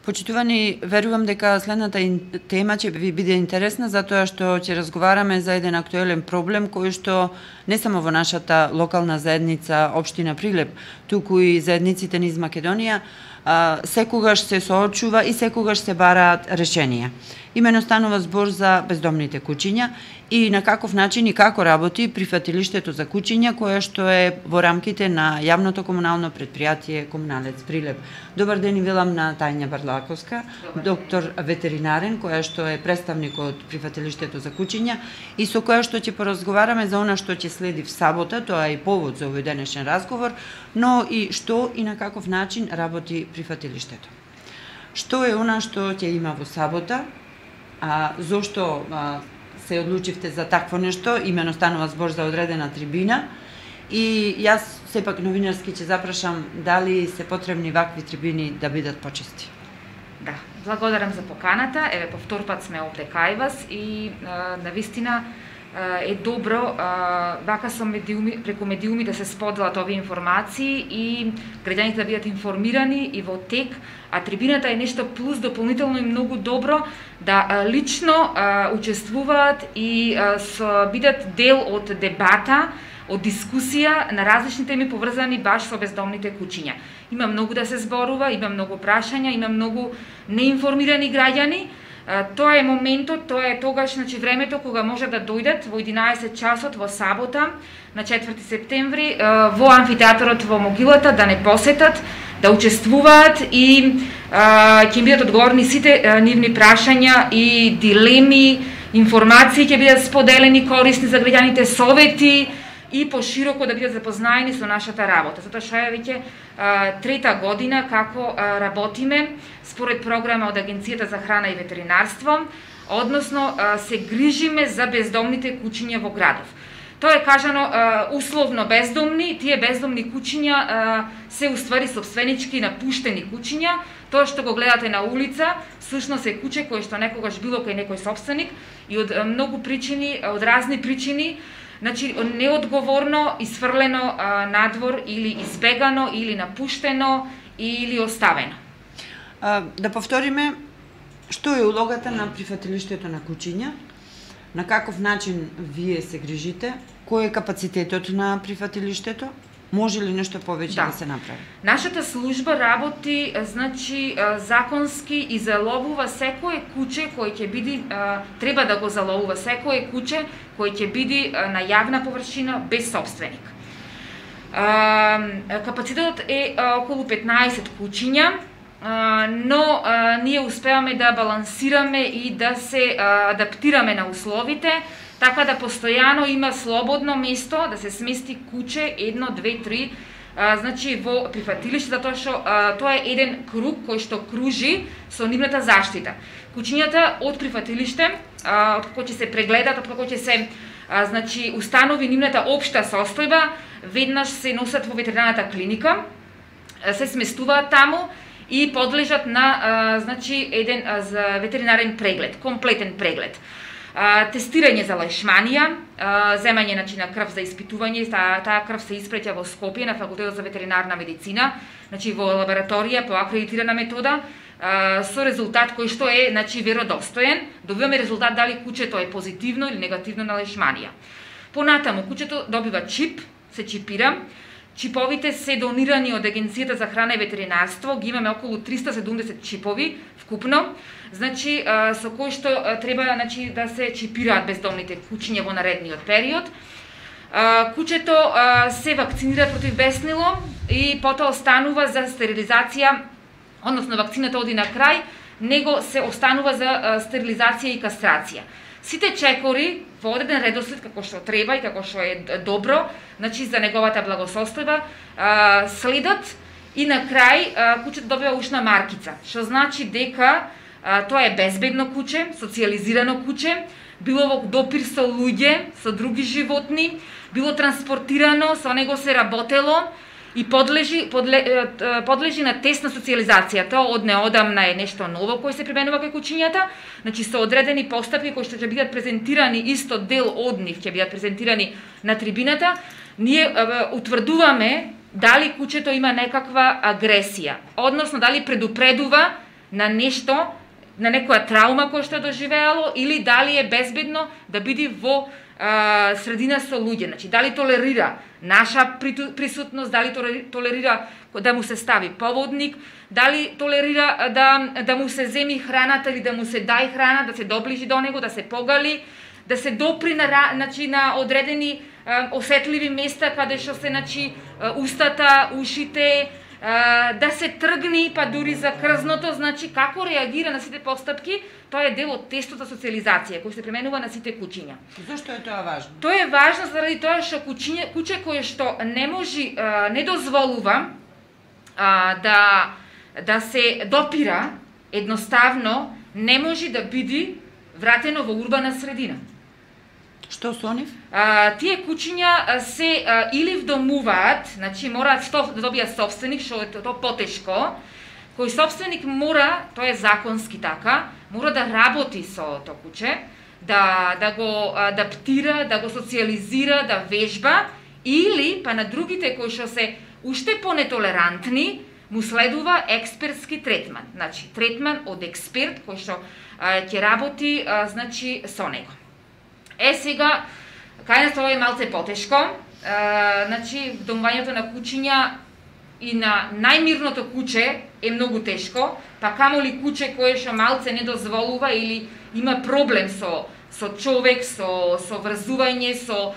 Почитувани, верувам дека следната тема ќе ви биде интересна, затоа што ќе разговараме за еден актуелен проблем кој што не само во нашата локална заедница општина Прилеп, туку и заедниците низ Македонија, секогаш се соочува и секогаш се бараат решенија. Имено станува збор за бездомните куќиња и на каков начин и како работи прифатилиштето за куќиња кое што е во рамките на јавното комунално предпријатие Комуналец Прилеп. Добар ден и велам на Тања Барлаковска, доктор ветеринарен, која што е представник од прифатилиштето за куќиња и со која што ќе поразговараме за она што ќе следи в сабота, тоа е и повод за овој денешен разговор, но и што и на каков начин работи прифатилиштето. Што е она што ќе има во сабота, зошто се одлучивте за такво нешто, имено станува збор за одредена трибина и јас сепак новинарски ќе запрашам дали се потребни вакви трибини да бидат почести. Да, благодарам за поканата. Еве по втор пат сме овде кај вас и навистина е добро вака со медиуми, преку медиуми да се споделат овие информации и граѓаните да бидат информирани и во тек, а трибината е нешто плюс дополнително и многу добро да лично учествуваат и бидат дел од дебата, од дискусија на различни теми поврзани баш со бездомните куќиња. Има многу да се зборува, има многу прашања, има многу неинформирани граѓани. Тоа е моментот, тоа е тогаш, значи времето кога може да дојдат во 11 часот во сабота на 4 септември во амфитеатарот во Могилата да не посетат, да учествуваат и ќе бидат одговорни сите нивни прашања и дилеми, информации ќе бидат споделени корисни за граѓаните, совети и пошироко да бидат запознаени со нашата работа. Затоа што е веќе трета година како работиме според програма од Агенцијата за храна и ветеринарство, односно се грижиме за бездомните куќиња во градов. Тоа е кажано условно бездомни, тие бездомни куќиња се уствари сопственички напуштени куќиња. Тоа што го гледате на улица, всушност е куќе кое што некогаш било кај некој сопственик и од многу причини, од разни причини, значи неодговорно исфрлено надвор или избегано или напуштено или оставено. Да повториме, што е улогата на прифатилиштето на куќиња, на каков начин вие се грижите, кој е капацитетот на прифатилиштето, може ли нешто повеќе да се направи? Нашата служба работи, значи, законски и заловува секое куќе кој ќе биде, треба да го заловува секое куќе кој ќе биде на јавна површина без собственик. Капацитетот е околу 15 куќиња, но ние успеваме да балансираме и да се адаптираме на условите, така да постојано има слободно место да се смести куќе 1, 2, 3, значи во прифатилиште, затоа што тоа е еден круг кој што кружи со нивната заштита. Куќињата од прифатилиште, од како ќе се прегледат, од како ќе се значи установи нивната општа состојба, веднаш се носат во ветеринарната клиника, се сместуваат таму и подлежат на значи еден ветеринарен преглед, комплетен преглед. Тестирање за лешманија, земање на крв за испитување, таа крв се испреќа во Скопје на Факултетот за ветеринарна медицина, значи во лабораторија по акредитирана метода, со резултат кој што е значи веродостоен, добиваме резултат дали куќето е позитивно или негативно на лешманија. Понатаму куќето добива чип, се чипира. Чиповите се донирани од Агенцијата за храна и ветеринарство, ги имаме околу 370 чипови вкупно, значи со кои што треба значи да се чипираат бездомните куќиња во наредниот период. Куќето се вакцинира против беснило и потоа останува за стерилизација, односно вакцината оди на крај, него се останува за стерилизација и кастрација. Сите чекори во одреден редослед како што треба и како што е добро, значи за неговата благосостојба, следат и на крај куќето добива ушна маркица, што значи дека тоа е безбедно куќе, социјализирано куќе, било во допир со луѓе, со други животни, било транспортирано, со него се работело и подлежи на тесна социјализација. Тоа од неодамна е нешто ново кој се применува кај куќињата, значи со одредени постапки кои што ќе бидат презентирани, исто дел од нив ќе бидат презентирани на трибината. Ние утврдуваме дали куќето има некаква агресија, односно дали предупредува на нешто, на некоја траума која што е доживеало, или дали е безбедно да биде во средина со луѓе. Значи, дали толерира наша присутност, дали толерира да му се стави поводник, дали толерира да му се земи храната или да му се дај храна, да се доближи до него, да се погали, да се допри на одредени осетливи места каде што се устата, ушите, да се тргни, па дури за крзното, значи како реагира на сите постапки, тоа е дел од тестот за социализација кој се применува на сите куќиња. Зошто е тоа важно? Тоа е важно заради тоа што куќе кое што не дозволува да се допира, едноставно не може да биде вратено во урбана средина. Што со нив? Тие куќиња се или вдомуваат, значи мораат да добијат собственик, што е тоа потешко, кој собственик мора, тоа е законски така, мора да работи со тоа куќе, да го адаптира, да го социализира, да вежба, или па на другите кои што се уште понетолерантни, му следува експертски третман. Значи, третман од експерт кој што ќе работи значи со него. Сега, кај нас тоа е малце потешко, значи, вдомувањето на куќиња и на најмирното куќе е многу тешко, па камоли куќе кое што малце не дозволува или има проблем со човек, со врзување, со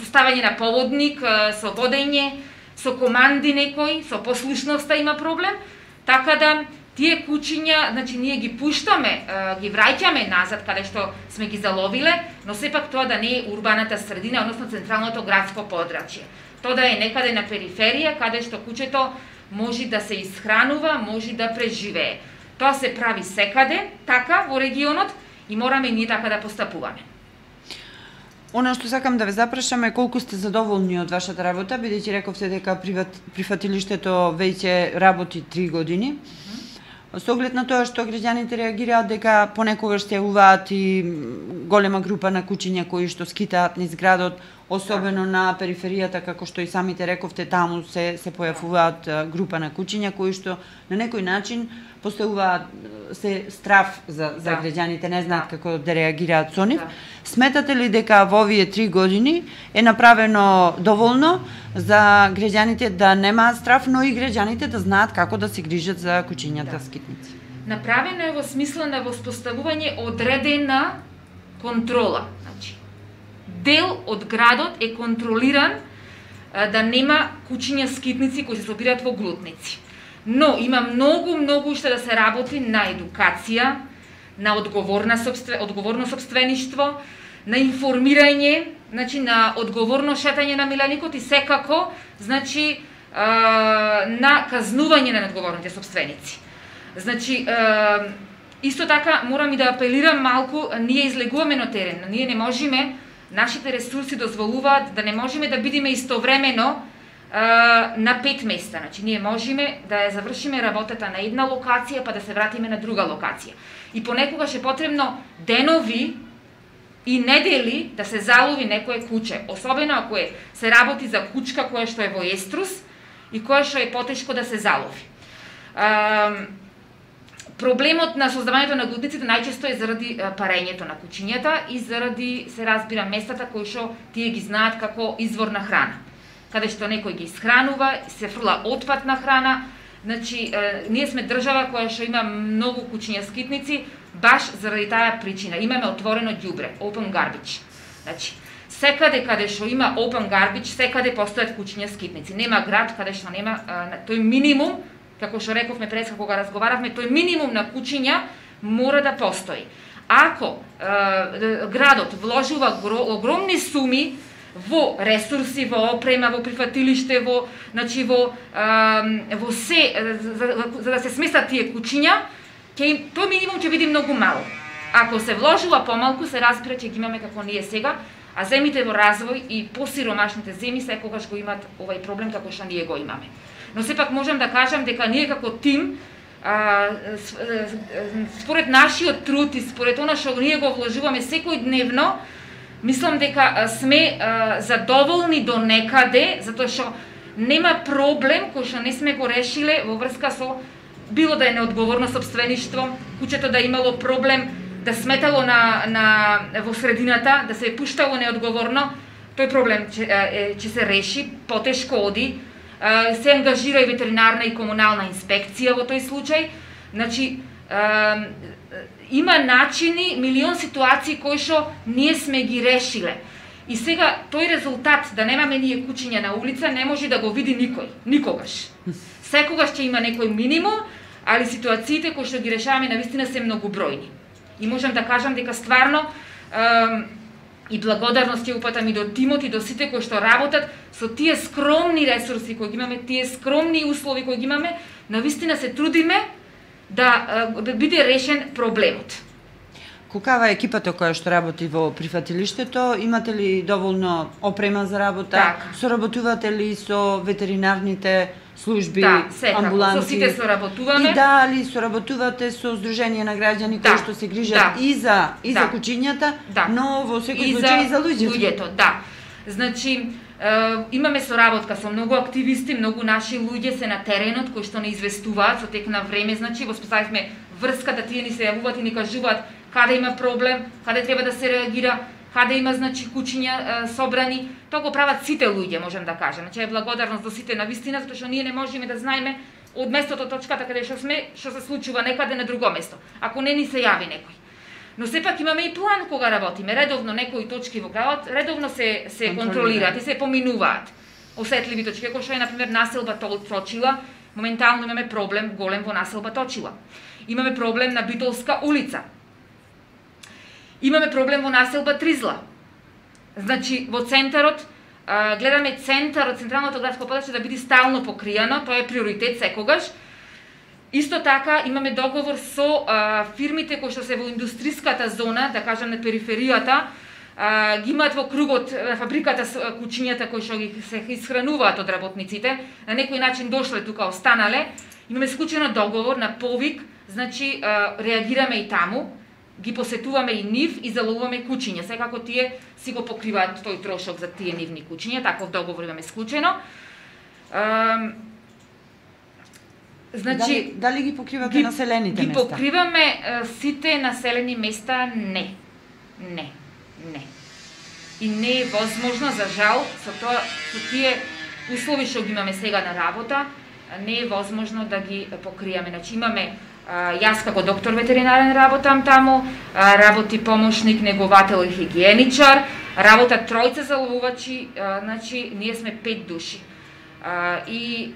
ставање на поводник, со водење, со команди некој, со послушноста има проблем, така да тие куќиња, значи ние ги пуштаме, ги враќаме назад каде што сме ги заловиле, но сепак тоа да не е урбаната средина, односно централното градско подрачје. Тоа да е некаде на периферија, каде што куќето може да се исхранува, може да преживее. Тоа се прави секаде, така, во регионот, и мораме ние така да постапуваме. Она што сакам да ве запрашам е колку сте задоволни од вашата работа, бидејќи рековте дека прифатилиштето веќе работи 3 години. Со оглед на тоа што граѓаните реагираат дека понекогаш се јавуваат и голема група на куќиња кои што скитаат низ градот, особено на периферијата, како што и самите рековте, таму се појавуваат група на куќиња кои што на некој начин поставуваат се страф за граѓаните, не знаат како да реагираат со нив. Сметате ли дека во овие 3 години е направено доволно за граѓаните да немаат страф, но и граѓаните да знаат како да се грижат за куќињата скитници? Направено е во смисла на воспоставување одредена контрола. Значи, дел од градот е контролиран да нема куќиња скитници кои се собираат во глутници. Но има многу уште да се работи на едукација, на одговорно собствеништво, на информирање, значи на одговорно шетање на миланикот и секако, значи на казнување на неодговорните собственици. Значи исто така морам и да апелирам малку, ние излегуваме на терен, ние не можеме, нашите ресурси дозволуваат да не можеме да бидеме истовремено на 5 места. Значи, ние можеме да ја завршиме работата на една локација, па да се вратиме на друга локација. И понекогаш е потребно денови и недели да се залови некое куќе, особено ако се работи за кучка која што е во еструс и која што е потешко да се залови. Проблемот на создавањето на глутниците најчесто е заради парењето на куќињата и заради, се разбира, местата кои што тие ги знаат како извор на храна, каде што некој ги исхранува, се фрла отпадна храна. Значи, ние сме држава која што има многу куќиња скитници, баш заради таа причина. Имаме отворено ѓубре, open garbage. Значи, секаде каде што има open garbage, секаде постојат куќиња скитници. Нема град каде што нема тој минимум, како што рековме преска кога разговаравме, тој минимум на куќиња мора да постои. Ако градот вложува огромни суми во ресурси, во опрема, во прифатилиште, значи во се за да се сместат тие куќиња, тој минимум ќе биде многу мало. Ако се вложува помалку, се разбира ќе ги имаме како ние сега, а земите во развој и посиромашните земи секогаш го имаат овај проблем како што ние го имаме. Но сепак можам да кажам дека ние како тим, според нашиот труд и според она што ние го вложуваме секојдневно, мислам дека сме задоволни до некаде, затоа што нема проблем кој што не сме го решиле во врска со било да е неодговорно сопствеништво, куќето да имало проблем, да сметало во средината, да се пуштало неодговорно, тој проблем ќе се реши, потешко оди, се ангажира и ветеринарна и комунална инспекција во тој случај. Значи, има начини, милион ситуации кои што ние сме ги решиле. И сега тој резултат да немаме ние кучиња на улица не може да го види никој, никогаш. Секогаш ќе има некој минимум, али ситуациите кои што ги решаваме навистина се многобројни. И можам да кажам дека стварно и благодарност ќе упатам и до тимот и до сите кои што работат со тие скромни ресурси кои ги имаме, тие скромни услови кои ги имаме, навистина се трудиме да биде решен проблемот. Какава е екипата која што работи во прифатилиштето? Имате ли доволно опрема за работа? Така. Соработувате ли со ветеринарните служби, секако, амбуланти? со сите соработуваме. И дали соработувате со Сдружение на граѓани кои што се грижат и за кучињата, но во секој случај и за луѓето? Да. Значи, имаме соработка со многу активисти, многу наши луѓе се на теренот кои што не известуваат со тек на време, значи воспоставивме врска да тие ни се јавуваат и ни кажуваат каде има проблем, каде треба да се реагира, каде има значи кучиња собрани. Тоа го прават сите луѓе, можам да кажам. Значи е благодарност до сите навистина, затоа што ние не можеме да знаеме од местото точката каде што сме, што се случува некаде на друго место, ако не ни се јави некој. Но сепак имаме и план кога работиме. Редовно некои точки во градот редовно се контролираат и се поминуваат. Осетливи точки, кои што е на пример населба Точила, моментално имаме проблем голем во населба Точила. Имаме проблем на Битолска улица. Имаме проблем во населба Тризла. Значи во центарот гледаме центарот, централното градско подрачје да биде стално покријано, тоа е приоритет секогаш. Исто така имаме договор со фирмите кои што се во индустријската зона, да кажам на периферијата, ги имаат во кругот фабриката кучињата кои што ги се исхрануваат од работниците, на некој начин дошле тука, останале. Имаме склучено договор на повик, значи реагираме и таму, ги посетуваме и нив и заловуваме кучиња. Секако тие си го покриваат тој трошок за тие нивни кучиња, таков договор имаме склучено. Значи, дали ги покривате населените места? Ги покриваме сите населени места, не. И не е возможно, за жал, со тие услови што ги имаме сега на работа, не е возможно да ги покриеме. Значи имаме јас како доктор ветеринарен работам таму, работи помошник, неговател и хигиеничар, работат тројца заловувачи, значи ние сме 5 души. И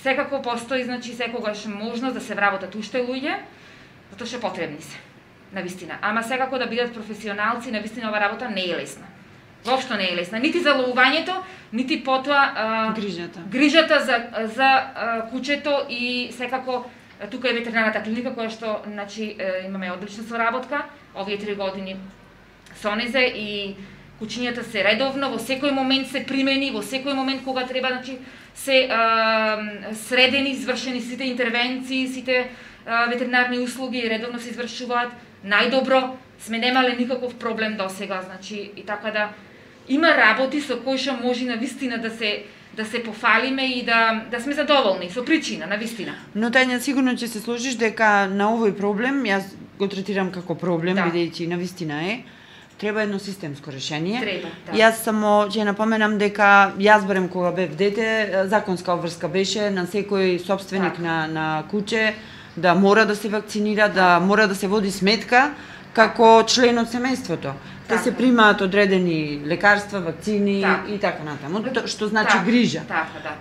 секако постои, значи секогаш можност да се вработат уште луѓе, затоа што потребни се, навистина. Ама секако да бидат професионалци, навистина ова работа не е лесна. Воопшто не е лесна. Нити за ловувањето, нити потоа грижата за кучето и секако тука е ветеринарната клиника која што значи имаме одлична соработка овие 3 години со незе и кучињата се редовно во секој момент се примени, во секој момент кога треба значи се средени, извршени сите интервенции, сите ветеринарни услуги редовно се извршуваат. Најдобро сме немале никаков проблем досега, значи и така да има работи со кои што може навистина да се пофалиме и да сме задоволни со причина, навистина. Но Тања, сигурно ќе се сложиш дека на овој проблем, јас го третирам како проблем, бидејќи навистина треба едно системско решение. Треба, да. Јас само ќе напоменам дека јас барем кога бев дете, законска обврска беше на секој сопственик на куче да мора да се вакцинира, да мора да се води сметка како член од семејството. Да се примаат одредени лекарства, вакцини и така натаму, што значи грижа.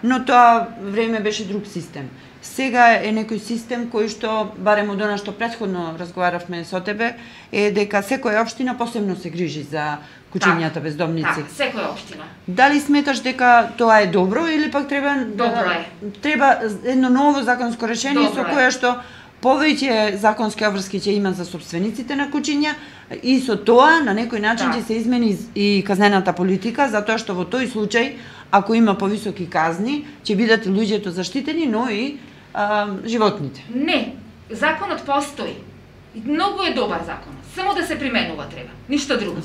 Но тоа време беше друг систем. Сега е некој систем кој што, барем од она што претходно разговаравме со тебе, е дека секоја општина посебно се грижи за кучињата бездомници. Секоја општина. Дали сметаш дека тоа е добро или пак треба едно ново законско решение со кое што повеќе законски обврски ќе има за собствениците на кучиња и со тоа на некој начин ќе се измени и казнената политика, затоа што во тој случај, ако има повисоки казни, ќе бидат луѓето заштитени, но и животните. Не, законот постои. Многу е добар законот. Само да се применува треба, ништо друго.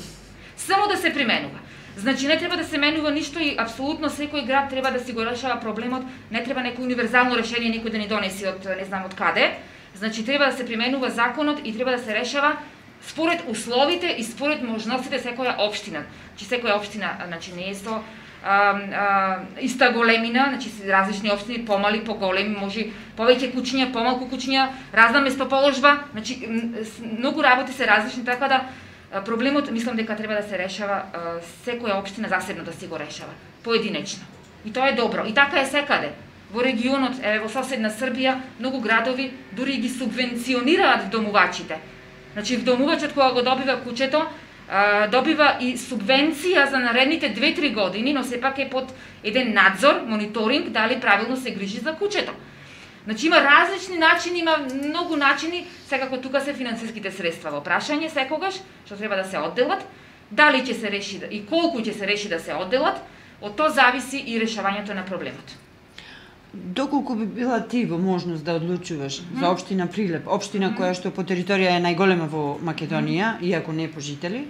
Само да се применува. Значи не треба да се менува ништо и апсолутно секој град треба да си го решава проблемот, не треба некој универзално решение некој да ни донеси од не знам од каде. Значи треба да се применува законот и треба да се решава според условите и според можностите секоја општина. Значи секоја општина, значи не е со иста големина, значи различни општини, помали, поголеми, може повеќе куќиња, помалку куќиња, разна местоположба, значи многу работи се различни, така да проблемот мислам дека треба да се решава секоја општина засебно да си го решава, поединечно. И тоа е добро. И така е секаде. Во регионот, во соседна Србија, многу градови дури ги субвенционираат домувачите. Значи домувачот кога го добива куќето, добива и субвенција за наредните 2-3 години, но сепак е под еден надзор, мониторинг, дали правилно се грижи за куќето. Значи има различни начини, има многу начини, секако тука се финансиските средства во прашање секогаш, што треба да се одделат, дали ќе се реши и колку ќе се реши да се одделат, од тоа зависи и решавањето на проблемот. Доколку би била ти во можност да одлучуваш за општина Прилеп, општина која што по територија е најголема во Македонија, иако не по жители,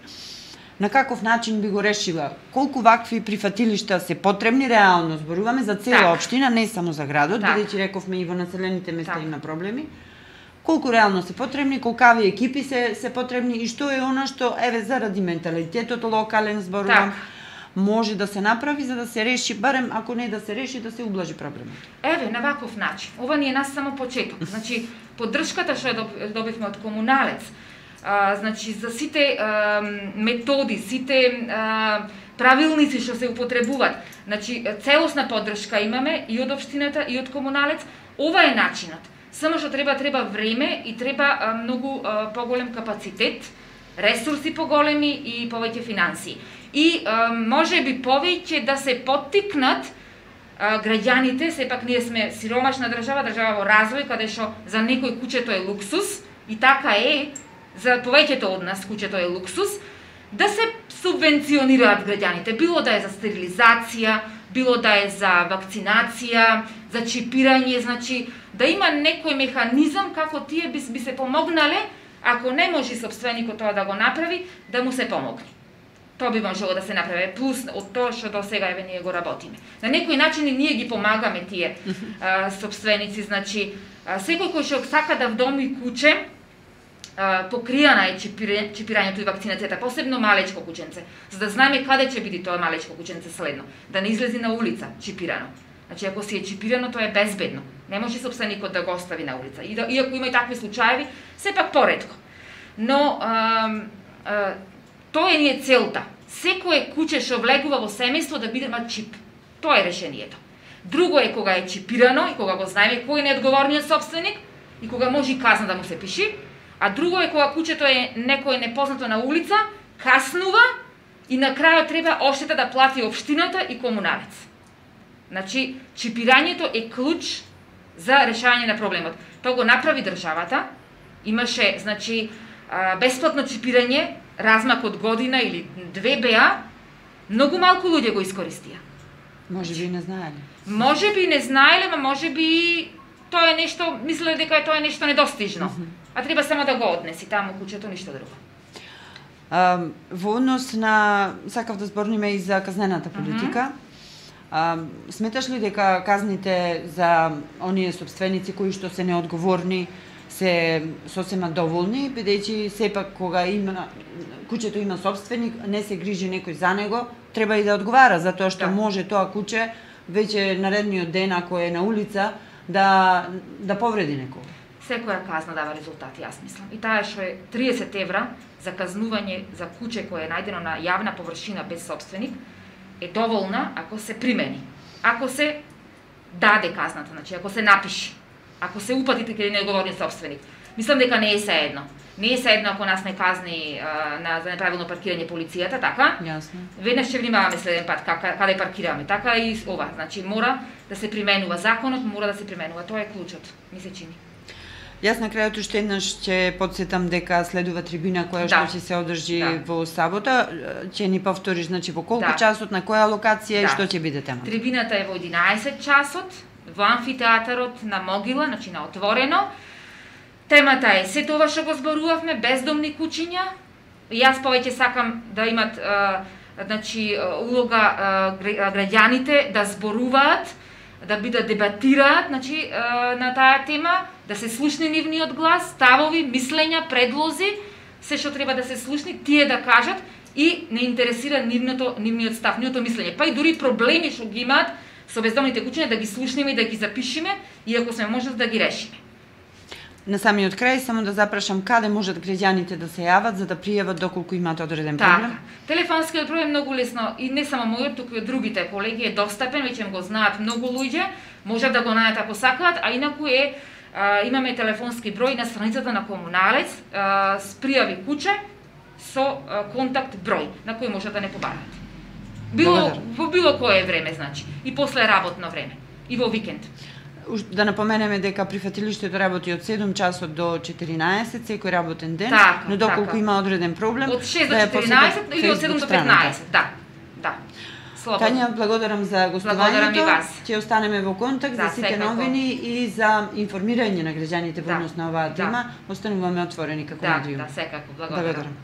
на каков начин би го решила? Колку вакви прифатилишта се потребни реално, зборуваме за цела општина, не само за градот, бидејќи рековме и во населените места има проблеми. Колку реално се потребни, колкави екипи се потребни и што е она што еве заради менталитетот локален зборувам, може да се направи за да се реши, барем ако не да се реши, да се ублажи проблемот. Еве, на ваков начин. Ова ни е нас само почеток. Значи, поддршката што ја добивме од комуналец, значи за сите методи, сите правилници што се употребуваат, значи целосна поддршка имаме и од општината и од комуналец. Ова е начинот. Само што треба време и треба многу поголем капацитет, ресурси поголеми и повеќе финансии. И може би повеќе да се поттикнат граѓаните, сепак ние сме сиромашна држава, држава во развој, каде што за некој куќето е луксус, и така е, за повеќето од нас куќето е луксус, да се субвенционираат граѓаните, било да е за стерилизација, било да е за вакцинација, за чипирање, значи да има некој механизам како тие би се помогнале, ако не може собственикот тоа да го направи, да му се помогне. Тоа би можело да се направи, плюс од тоа што до сега еве ние го работиме. На некој начин и ние ги помагаме тие собственици, значи секој кој што сака да вдоми куќе, покријана е чипирањето и вакцинацијата, посебно малечко куќенце, за да знаеме каде ќе биде тоа малечко куќенце следно, да не излези на улица чипирано. Значи ако си е чипирано, тоа е безбедно. Не може собственикот да го остави на улица. Иако има и такви случаеви, сепак поретко. Но тоа е ни е целта. Секое куќе што влегува во семејство да биде чип. Тоа е решението. Друго е кога е чипирано и кога го знаеме кој е неодговорниот собственик и кога може и казна да му се пиши, а друго е кога куќето е некој непознато на улица, каснува и на крајот треба оштета да плати општината и комуналец. Значи, чипирањето е клуч за решавање на проблемот. Тоа го направи државата, имаше, значи, бесплатно чипирање, размак од година или 2 беа, многу малку луѓе го искористија. Може би не знаеле. Може би не знаеле, ма може би тоа е нешто, мислеле дека тоа е нешто недостижно. А треба само да го однеси таму куќето, ништо друго. Во однос на, сакав да зборниме и за казнената политика, сметаш ли дека казните за оние собственици кои што се неодговорни се сосема доволни, бидејќи сепак кога куќето има собственик, не се грижи некој за него, треба и да одговара, затоа што може тоа куќе веќе наредниот ден, ако е на улица, да повреди некој. Секоја казна дава резултати, јас мислам. И таа што е 30 евра за казнување за куќе кое е најдено на јавна површина без собственик, е доволна ако се примени. Ако се даде казната, значи ако се напиши, ако се упатите каде неодговорниот собственик. Мислам дека не е сеедно. Не е сеедно ако нас не казни за неправилно паркирање полицијата, така? Јасно. Веднаш ќе внимаваме следен пат каде паркираме, така и ова. Значи мора да се применува законот, мора да се применува. Тоа е клучот, ми се чини. Јас на крајот уште еднаш ќе потсетам дека следува трибина која што ќе се одржи во сабота. Ќе ни повториш, значи во колку часот, на која локација и што ќе биде темата? Трибината е во 11 часот во амфитеатарот на Могила, значи на отворено. Темата е се тоа што го зборувавме, бездомни куќиња. Јас повеќе сакам да имат значи улога граѓаните да зборуваат, да бидат дебатираат, значи на таа тема, да се слушне нивниот глас, ставови, мислења, предлози, се што треба да се слушни, тие да кажат и не интересира нивниот став, нивното мислење. Па и дури проблеми што ги имаат со бездомните куќиња да ги слушнеме и да ги запишеме, и ако сме можат да ги решиме. На самиот крај само да запрашам каде можат граѓаните да се јават за да пријават доколку имаат одреден проблем? Телефонскиот број е многу лесно и не само мојот, туку и од другите колеги е достапен, веќе го знаат многу луѓе, можат да го најдат ако сакаат, а инаку имаме телефонски број на страницата на Комуналец, пријави куќа со контакт број на кој можат да не побараат. Во било кое време, значи, и после работно време, и во викенд. Да напоменеме дека прифатилиштето работи од 7 часот до 14 секој работен ден, но доколку има одреден проблем, од 6 до 14 или од 7 до 15, да. Слободно. Тања, благодарам за гостувањето. Ќе останеме во контакт за сите новини и за информирање на граѓаните во однос на оваа тема. Остануваме отворени како медиум. Да, секако. Благодарам.